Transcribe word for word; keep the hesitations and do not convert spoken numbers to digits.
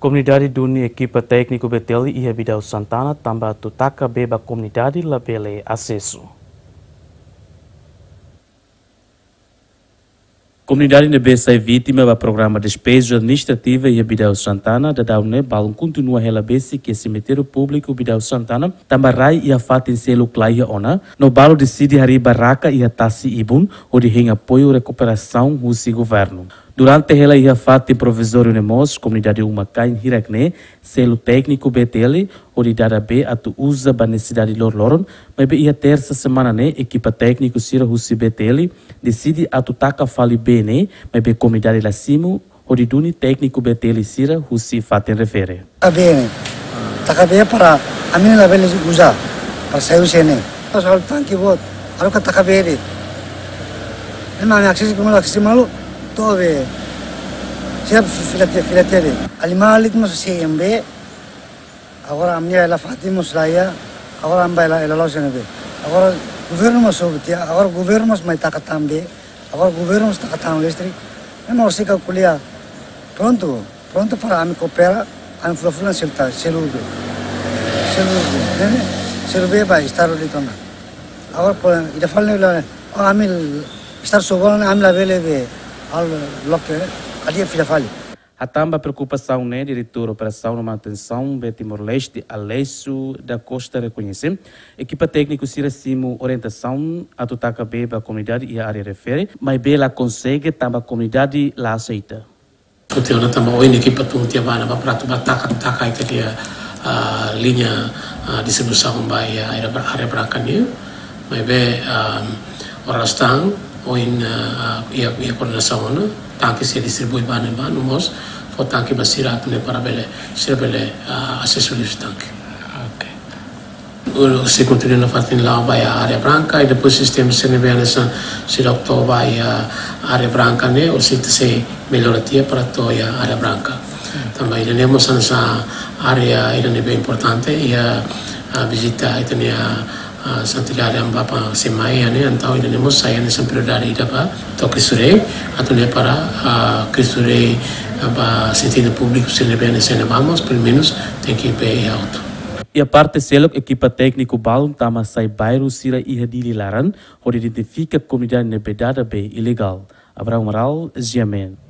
Komunidade duni ekipa tékniku B T L iha Bidau Santana tanba atu taka bee ba komunidade labele asesu. Komunidade ne'ebé sai vítima ba programa despeju administrativa iha Bidau Santana, daudaun ne'e balun kontinua hela besik iha semitériu públiku Bidau Santana, tanba rai iha fatin seluk la iha ona, no balu deside harii barraka iha tasi ibun, hodi hein apoiu rekuperasaun husi governu. Durante hela iha fatin provizóriu ne'e mós, komunidade uma-kain hirak ne'e selu tékniku B T L hodi dada bee atu uza ba nesesidade loroloron, maibé iha tersa semana ne'e ekipa tékniku sira husi B T L deside atu taka fali bee ne'e, maibé komunidade la simu hodi duni tékniku B T L sira husi fatin refere. Taka bee ne'e. Taka bee para ami labele uza, para sai husi ne'e. Pas halo tanki boot, haruka taka bee de'it. Ema ami aksesi kuma aksesi malu, to'o bee. Siap fila tiha, fila tiha de'it. Alimali tu mós C M B, agora ami-nia hela fatin mós la iha, agora ami bá hela, hela la'o husi ne'ebé. Agora governu mós sobu tiha, agora governu mós mai taka tan bee, agora governu mós taka tan listrik. Ema horiseik ko'alia, prontu, prontu para ami koopera, ami fulan-fulan selu ta, selu bee. Selu bee, ne'e, selu bee ba estadu de'it ona. Agora ko ida fali ne'e la, oh, ami estadu sobu ona, ami labele bee, halo loke, hadi'a fila fali. Hatán ba preokupasaun ne'e, Diretór Operasaun no Manutensaun bee Timor-Leste, Aleixo da Costa, rekoñese ekipa tékniku sira simu orientasaun atu taka bee ba komunidade iha área refere, maibé la konsege tanba komunidade la aseita. Hotu ona tanba ohin ekipa tun tiha ba ne'ebá para atu bá taka, taka ita-nia, ah, liña, ah, distribuisaun ba iha área bra-, área branka nian. Maibé, ah, oras tan, ohin, ah, iha, iha koordenasaun ona, tanki sei distribui ba ne'ebá, no mós fó tanki ba sira atu nune'e para bele, sira bele, ah, asesu liu husi tanki. Ok. Sei kontinua nafatin la'o ba iha área branka, i depois sistema sira ne'ebé hanesan sira atu to'o ba iha área branka ne'e, horiseik ita sei mellora tiha para to'o iha área branka. Tanba ida-ne'e mós hanesan área ida ne'ebé importante, iha, ah, vizita ita-nia, ah, santidade Amu Papa Semai ne'e, entaun ida-ne'e mós sai hanesan prioridade ida ba to'o Cristo Rei, atu nune'e para, ah, Cristo Rei, ah, ba sentidu públiku sira ne'ebé hanesan ne'e vamos, pelumenus tenke bee iha hotu. Iha parte seluk, ekipa tékniku balun tama sai bairru sira iha Dili laran, hodi identifika komunidade ne'ebé dada bee ilegál. Abraham Amaral, G M N.